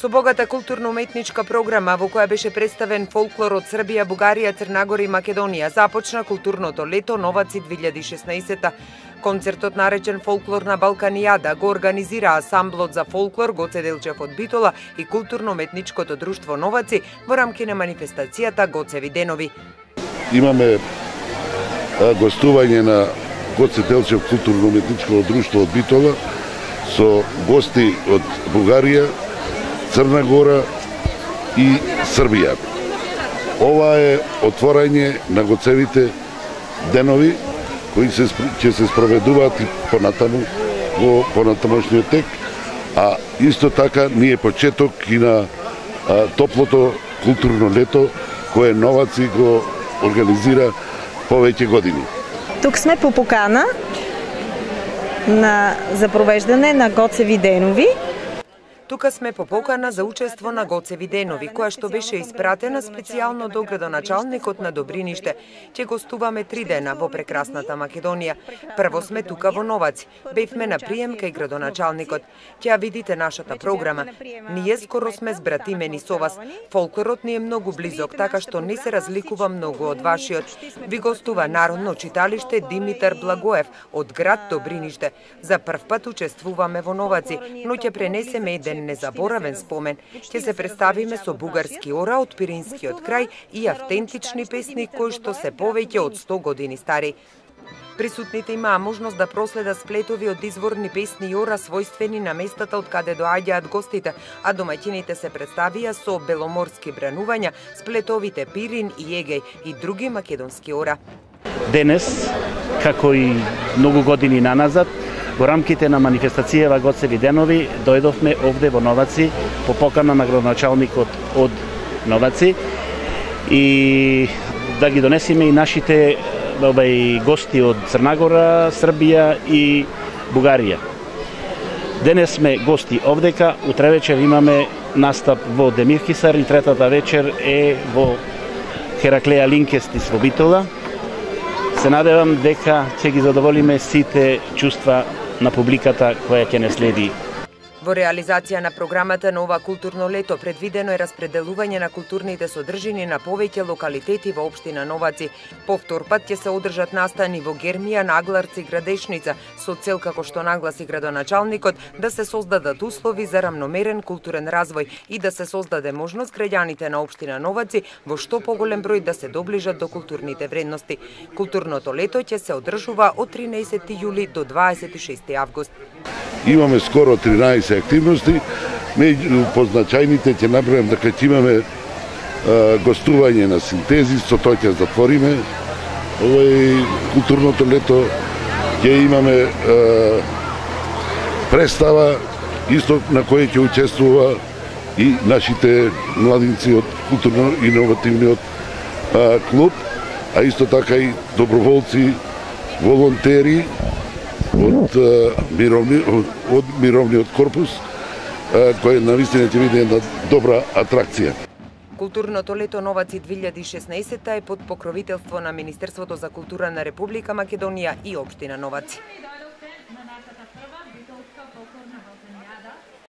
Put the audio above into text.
Со богата културно-уметничка програма во која беше представен фолклор од Србија, Бугарија, Црнагора и Македонија, започна културното лето Новаци 2016. Концертот наречен Фолклорна Балканијада го организира Асамблот за фолклор Гоце Делчев од Битола и културно-уметничкото друштво Новаци во рамки на манифестацијата Гоцеви денови. Имаме гостување на Гоце Делчев културно-уметничко друштво од Битола со гости од Бугарија, Црна Гора и Србија. Ова е отворање на Гоцевите денови кои ќе се спроведуваат и понатаму во понатамошниот тек, а исто така ние почеток и на топлото културно лето кое Новаци го организира повеќе години. Тук сме по покана за провеждане на Гоцеви денови. Тука сме по покана за учество на Гоцеви денови, која што беше испратена специјално до градоначалникот на Добриниште. Ќе гостуваме 3 дена во прекрасната Македонија. Прво сме тука во Новаци. Бевме на прием кај градоначалникот. Ќе видите нашата програма. Ние скоро сме збратимени со вас. Фолклорот ни е многу близок, така што не се разликува многу од вашиот. Ви гостува Народно читалиште Димитар Благоев од град Добриниште. За прв пат учествуваме во Новаци, но ќе пренесеме еден незаборавен спомен. Ќе се представиме со бугарски ора од Пиринскиот крај и автентични песни кои што се повеќе од 100 години стари. Присутните имаа можност да проследат сплетови од изворни песни и ора својствени на местата од каде доаѓаат гостите, а домаќините се представија со беломорски бранувања, сплетовите Пирин и Егеј и други македонски ора. Денес, како и многу години наназад, во рамките на манифестацијава Гоцеви денови дојдовме овде во Новаци по покана на градоначалникот од Новаци и да ги донесеме и нашите гости од Црнагора, Србија и Бугарија. Денес сме гости овдека, утре вечер имаме настап во Демирхисар и третата вечер е во Хераклеја Линкестис во Битола. Се надевам дека ќе ги задоволиме сите чувства на публиката која ќе не следи. Во реализација на програмата на ова културно лето предвидено е распределување на културните содржини на повеќе локалитети во општина Новаци. Повтор пат ќе се одржат настани во Гермија, Нагларци и Градешница со цел, како што нагласи градоначалникот, да се создадат услови за рамномерен културен развој и да се создаде можност граѓаните на општина Новаци во што поголем број да се доближат до културните вредности. Културното лето ќе се одржува од 13 јули до 26 август. Имаме скоро 13 активности, меѓу позначајните ќе набројам дека ќе имаме гостување на Синтези, со тој ќе затвориме културното лето, ќе имаме представа исто на која ќе учествува и нашите младинци од културно-иновативниот клуб, а исто така и доброволци, волонтери од мировниот корпус, кој навистина ќе биде една добра атракција. Културното лето Новаци 2016 е под покровителство на Министерството за култура на Република Македонија и општина Новаци.